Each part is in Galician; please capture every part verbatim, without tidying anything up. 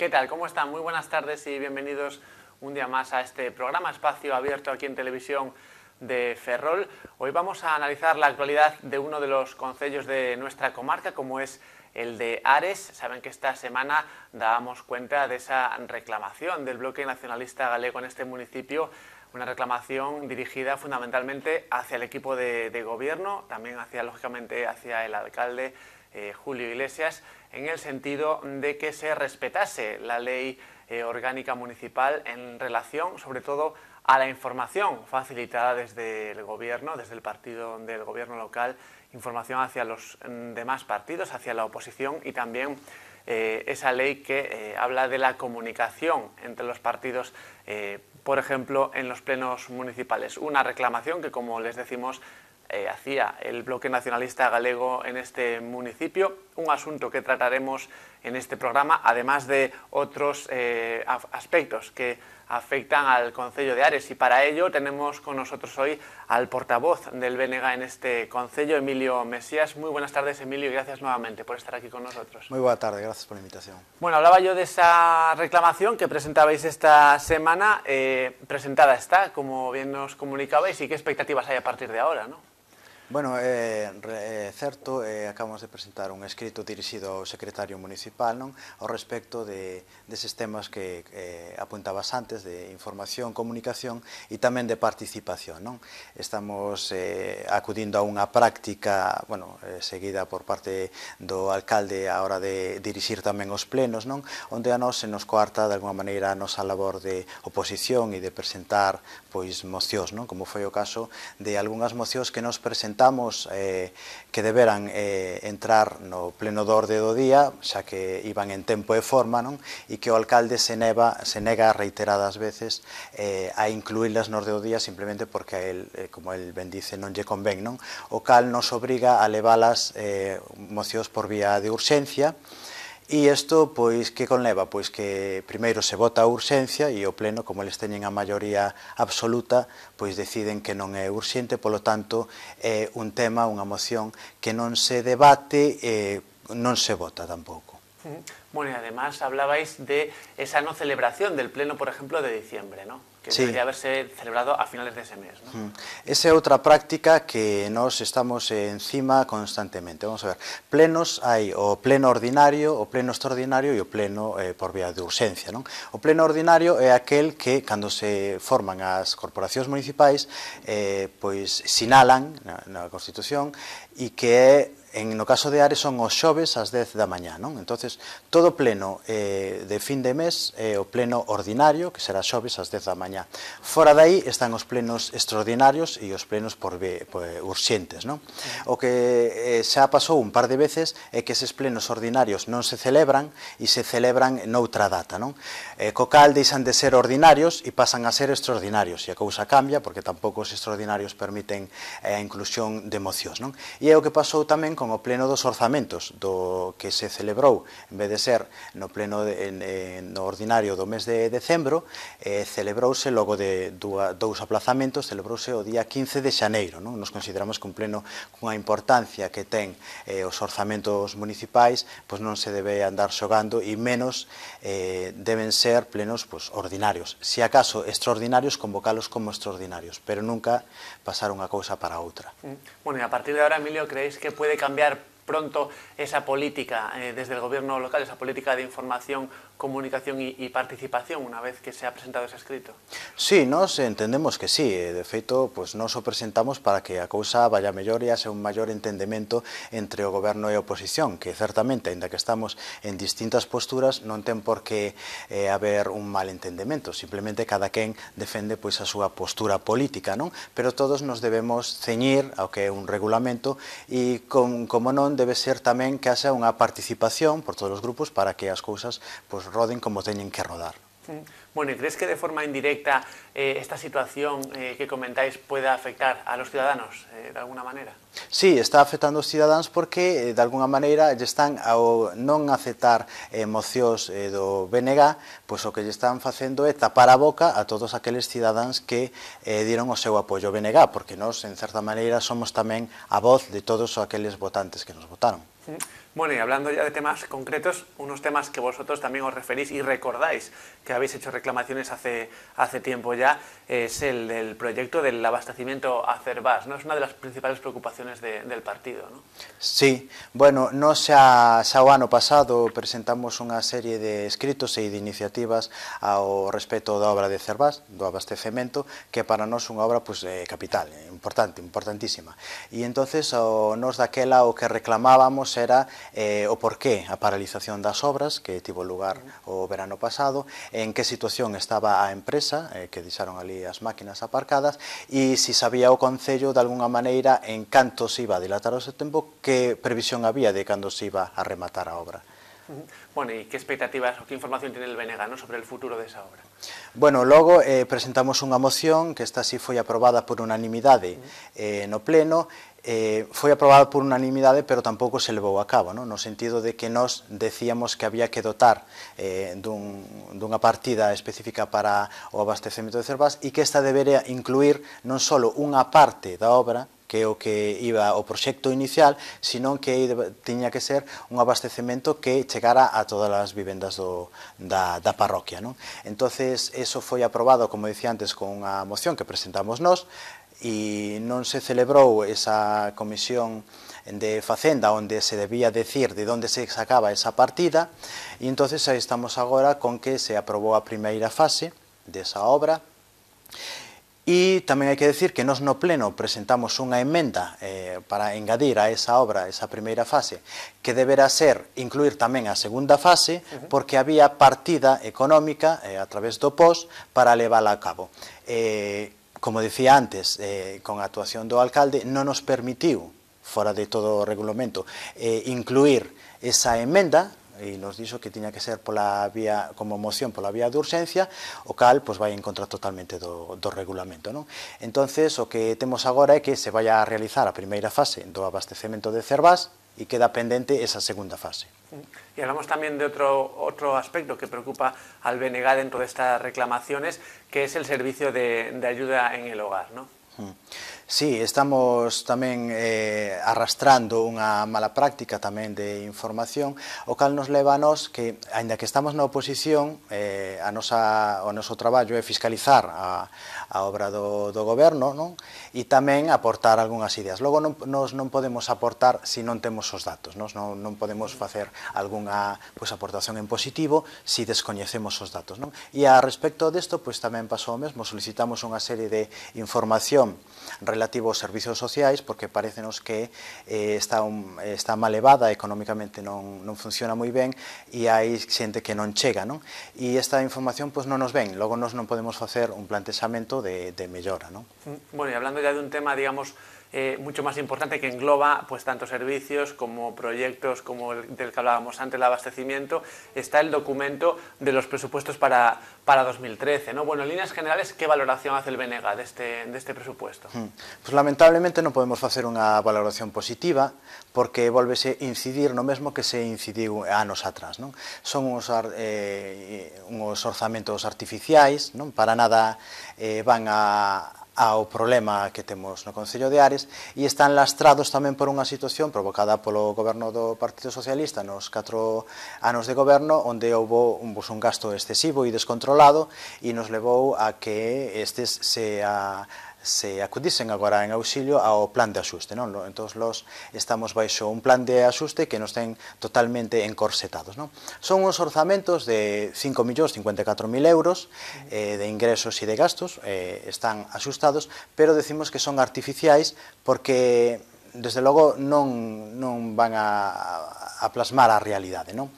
¿Qué tal? ¿Cómo están? Muy buenas tardes y bienvenidos un día más a este programa Espacio Abierto aquí en Televisión de Ferrol. Hoy vamos a analizar la actualidad de uno de los concellos de nuestra comarca, como es el de Ares. Saben que esta semana dábamos cuenta de esa reclamación del bloque nacionalista galego en este municipio, una reclamación dirigida fundamentalmente hacia el equipo de, de gobierno, también hacia, lógicamente, hacia el alcalde eh, Julio Iglesias, en el sentido de que se respetase la ley eh, orgánica municipal en relación, sobre todo, a la información facilitada desde el gobierno, desde el partido del gobierno local, información hacia los demás partidos, hacia la oposición y también eh, esa ley que eh, habla de la comunicación entre los partidos, eh, por ejemplo, en los plenos municipales. Una reclamación que, como les decimos, Eh, hacía el bloque nacionalista galego en este municipio, un asunto que trataremos en este programa, además de otros eh, aspectos que afectan al concello de Ares, y para ello tenemos con nosotros hoy al portavoz del B N G en este concello, Emilio Mesías. Muy buenas tardes, Emilio, y gracias nuevamente por estar aquí con nosotros. Muy buena tarde, gracias por la invitación. Bueno, hablaba yo de esa reclamación que presentabais esta semana. Eh, presentada está, como bien nos comunicabais, y qué expectativas hay a partir de ahora, ¿no? Bueno, é eh, certo, eh, acabamos de presentar un escrito dirixido ao secretario municipal, non, ao respecto de deses temas que eh, apuntabas antes, de información, comunicación e tamén de participación, non? Estamos eh, acudindo a unha práctica, bueno, eh, seguida por parte do alcalde a hora de dirixir tamén os plenos, non? Onde a nós se nos coarta de alguma maneira a nosa labor de oposición e de presentar pois mocións, non? Como foi o caso de algunhas mocións que nos presentamos Eh, que deberan eh, entrar no pleno de orde do día, xa que iban en tempo e forma, non? E que o alcalde se, neva, se nega reiteradas veces eh, a incluílas no orde do día simplemente porque a él, eh, como el ben dice, non lle convén, non? O cal nos obriga a levalas eh, mocións por vía de urxencia. E isto, pois, que conleva? Pois que primeiro se vota a urxencia e o pleno, como eles teñen a maioría absoluta, pois deciden que non é urxente, polo tanto, é un tema, unha moción que non se debate e non se vota tampouco. Bueno, y además hablabais de esa no celebración del pleno, por ejemplo, de diciembre, ¿no? Que sí, debería haberse celebrado a finales de ese mes, ¿no? Mm. Esa é outra práctica que nós estamos encima constantemente. Vamos a ver, plenos hai o pleno ordinario, o pleno extraordinario e o pleno eh, por vía de urxencia, non? O pleno ordinario é aquel que, cando se forman as corporacións municipais, eh, pois sinalan na, na Constitución e que é, en, no caso de Ares, son os xoves ás dez da mañá, non? Entonces, todo pleno eh, de fin de mes é o pleno ordinario, que será xoves ás dez da mañá. Fora dai están os plenos extraordinarios e os plenos por, por urxentes, non? O que eh, xa pasou un par de veces é que eses plenos ordinarios non se celebran e se celebran noutra data, non? Eh, co cal deixan de ser ordinarios e pasan a ser extraordinarios, e a cousa cambia porque tampouco os extraordinarios permiten eh, a inclusión de mocións, non? E é o que pasou tamén con o pleno dos orzamentos, do que se celebrou, en vez de ser no pleno de, en, en, no ordinario do mes de decembro, eh, celebrouse logo de dúa, dous aplazamentos, celebrouse o día quince de xaneiro, non? Nos consideramos que un pleno cunha importancia que ten eh, os orzamentos municipais, pois non se debe andar xogando, e menos eh, deben ser plenos pois, ordinarios. Si acaso extraordinarios, convocalos como extraordinarios, pero nunca pasar unha cousa para outra. Bueno, y a partir de ahora, Emilio, ¿creéis que puede cambiar pronto esa política eh, desde el gobierno local, esa política de información, comunicación y, y participación una vez que se ha presentado ese escrito? Sí, nos entendemos que sí, de feito, pues nos o presentamos para que a cousa vaya mellor e haxa un maior entendemento entre o goberno e a oposición, que certamente, ainda que estamos en distintas posturas, non ten por que eh, haber un mal entendemento, simplemente cada quen defende pois a súa postura política, non? Pero todos nos debemos ceñir ao que é un regulamento e, con, como non, debe ser tamén que haxa unha participación por todos os grupos para que as cousas pois, roden como teñen que rodar. Bueno, ¿y crees que de forma indirecta eh, esta situación eh, que comentáis pueda afectar a los ciudadanos eh, de alguna maneira? Sí, está afectando os cidadáns porque, de alguna maneira, lle están ao non aceptar eh, mocións eh, do B N G, pois o que lle están facendo é tapar a boca a todos aqueles cidadáns que eh, dieron o seu apoio ao B N G, porque nós, en certa maneira, somos tamén a voz de todos aqueles votantes que nos votaron. Bueno, y hablando ya de temas concretos, unos temas que vosotros también os referís y recordáis que habéis hecho reclamaciones hace, hace tiempo ya, es el del proyecto del abastecimiento a Cervás, ¿no? Es una de las principales preocupaciones de, del partido, ¿no? Sí, bueno, nos xa, xa o ano pasado presentamos unha serie de escritos e de iniciativas ao respecto da obra de Cervás, do abastecemento, que para nós unha obra pues, eh, capital, importante, importantísima. E entonces o, nos daquela o que reclamábamos era eh, o porqué a paralización das obras que tivo lugar o verano pasado, en que situación estaba a empresa, eh, que deixaron ali as máquinas aparcadas, e se sabía o Concello de alguna maneira en canto se iba a dilatar o seu tempo, que previsión había de cando se iba a rematar a obra. Bueno, ¿y qué expectativas o qué información tiene el B N G, ¿no?, sobre el futuro de esa obra? Bueno, logo eh, presentamos unha moción que esta sí foi aprobada por unanimidade eh, no pleno. Eh, foi aprobada por unanimidade, pero tampouco se levou a cabo, no, no sentido de que nós decíamos que había que dotar eh, dun, dunha partida específica para o abastecemento de Cervás e que esta debería incluir non só unha parte da obra, que é o que iba o proxecto inicial, sino que tiña que ser un abastecemento que chegara a todas as vivendas do, da, da parroquia, non? Entonces, eso foi aprobado, como dicía antes, con unha moción que presentamos nós, e non se celebrou esa comisión de Facenda onde se debía decir de onde se sacaba esa partida, e entonces aí estamos agora con que se aprobou a primeira fase desa obra. E tamén hai que decir que nós no pleno presentamos unha emenda eh, para engadir a esa obra, esa primeira fase, que deberá ser incluir tamén a segunda fase, porque había partida económica eh, a través do P O S para levála a cabo. Eh, como dicía antes, eh, con a actuación do alcalde, non nos permitiu, fora de todo o regulamento, eh, incluir esa emenda, e nos dixo que tiña que ser pola vía, como moción pola vía de urxencia, o cal pues, vai en contra totalmente do, do regulamento, non? Entonces, o que temos agora é que se vai a realizar a primeira fase do abastecemento de Cervás e queda pendente esa segunda fase. Y hablamos también de otro, otro aspecto que preocupa al B N G dentro de estas reclamaciones, que es el servicio de, de ayuda en el hogar, ¿no? Sí, estamos tamén eh, arrastrando unha mala práctica tamén de información, o cal nos leva a nós que, aínda que estamos na oposición, eh, a nosa, o noso traballo é fiscalizar a, a obra do, do goberno, non? E tamén aportar algunhas ideas. Logo, non, nos non podemos aportar se non temos os datos, nos non, non podemos facer algunha pues, aportación en positivo se descoñecemos os datos, non? E a respecto desto, pues, tamén pasou o mesmo, solicitamos unha serie de información relativo aos servizos sociais, porque parecenos que eh, está, un, está mal elevada, económicamente non, non funciona moi ben, e hai xente que non chega, non? E esta información pues, non nos ven, logo nos non podemos facer un plantexamento de, de mellora, non? Bueno, y hablando ya de un tema, digamos, Eh, mucho más importante, que engloba pues tanto servicios como proyectos como el del que hablábamos antes, el abastecimiento, está el documento de los presupuestos para, para dos mil trece, ¿no? Bueno, en líneas generales, ¿qué valoración hace el B N G de este, de este presupuesto? Hmm. Pues lamentablemente non podemos facer unha valoración positiva, porque volvese incidir no mesmo que se incidiu anos atrás, non? Son uns, eh, uns orzamentos artificiais, non? Para nada eh, van a ao problema que temos no Concello de Ares, e están lastrados tamén por unha situación provocada polo goberno do Partido Socialista nos catro anos de goberno, onde houve un, un gasto excesivo e descontrolado, e nos levou a que estes se a se acudisen agora en auxilio ao plan de axuste, non? Entón, los estamos baixo un plan de axuste que nos ten totalmente encorsetados, non? Son uns orzamentos de cinco millóns cincuenta e catro mil euros eh, de ingresos e de gastos, eh, están axustados, pero decimos que son artificiais porque, desde logo, non, non van a, a plasmar a realidade, non?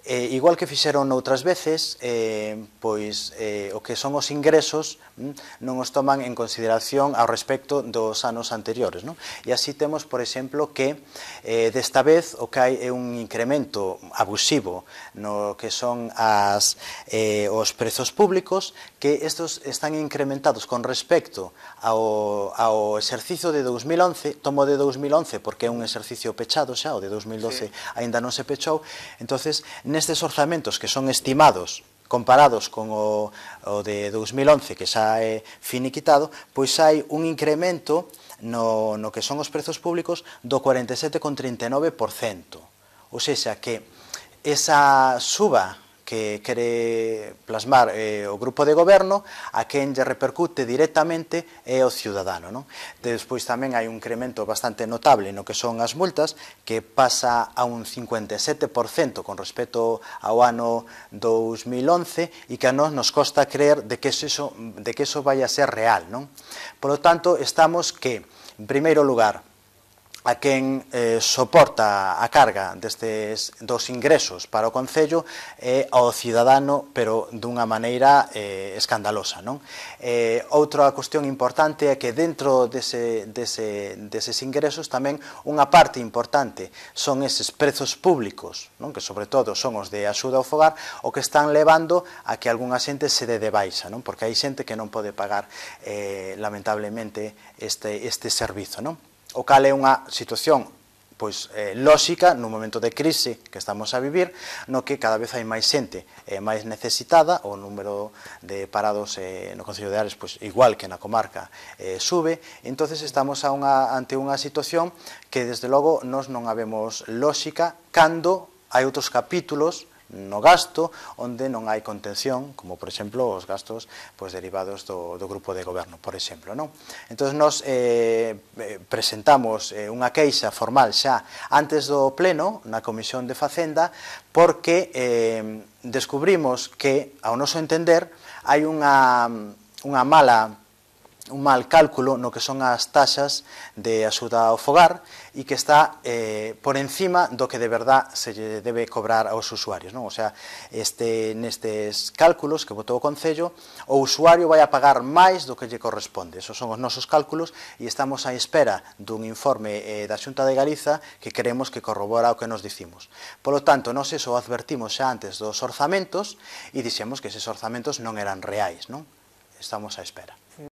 Eh, igual que fixeron outras veces, eh, pois eh, o que son os ingresos mm, non os toman en consideración ao respecto dos anos anteriores, non? E así temos, por exemplo, que eh, desta vez o que hai é un incremento abusivo no que son as, eh, os prezos públicos, que estos están incrementados con respecto ao, ao exercicio de dous mil once, tomo de dous mil once porque é un exercicio pechado xa, o de dous mil doce sí. Aínda non se pechou, entonces nestes orzamentos que son estimados comparados con o, o de dous mil once que xa é finiquitado, pois hai un incremento no, no que son os prezos públicos do cuarenta e sete coma trinta e nove por cento, ou seja que esa suba que quere plasmar eh, o grupo de goberno, a quen lle repercute directamente é o ciudadano, non? Despois tamén hai un incremento bastante notable no que son as multas, que pasa a un cincuenta e sete por cento con respecto ao ano dous mil once e que a nós nos costa creer de que eso, de que eso vai a ser real, non? Por lo tanto, estamos que, en primeiro lugar, a quen eh, soporta a carga destes dos ingresos para o Concello é ao cidadano, pero dunha maneira eh, escandalosa, non? Eh, outra cuestión importante é que dentro dese, dese, deses ingresos tamén unha parte importante son eses prezos públicos, non? Que sobre todo son os de axuda ao fogar, o que están levando a que algunha xente se dé de baixa, non? Porque hai xente que non pode pagar eh, lamentablemente este, este servizo, non? O cal é unha situación pois, eh, lóxica no momento de crise que estamos a vivir, no que cada vez hai máis xente eh, máis necesitada, o número de parados eh, no Concello de Ares, pois, igual que na comarca, eh, sube, entonces estamos a unha, ante unha situación que desde logo nós non habemos lóxica cando hai outros capítulos no gasto onde non hai contención, como por exemplo os gastos pois, derivados do, do grupo de goberno, por exemplo, non? Entón, nos eh, presentamos eh, unha queixa formal xa antes do pleno na Comisión de Facenda porque eh, descubrimos que, ao noso entender, hai unha, unha mala un mal cálculo no que son as taxas de axuda ao fogar e que está eh, por encima do que de verdad se lle debe cobrar aos usuarios, non? O sea, este, nestes cálculos que botou o Concello, o usuario vai a pagar máis do que lle corresponde. Esos son os nosos cálculos e estamos á espera dun informe eh, da Xunta de Galiza que queremos que corrobora o que nos dicimos. Por lo tanto, nós eso advertimos xa antes dos orzamentos e dixemos que eses orzamentos non eran reais, non? Estamos á espera.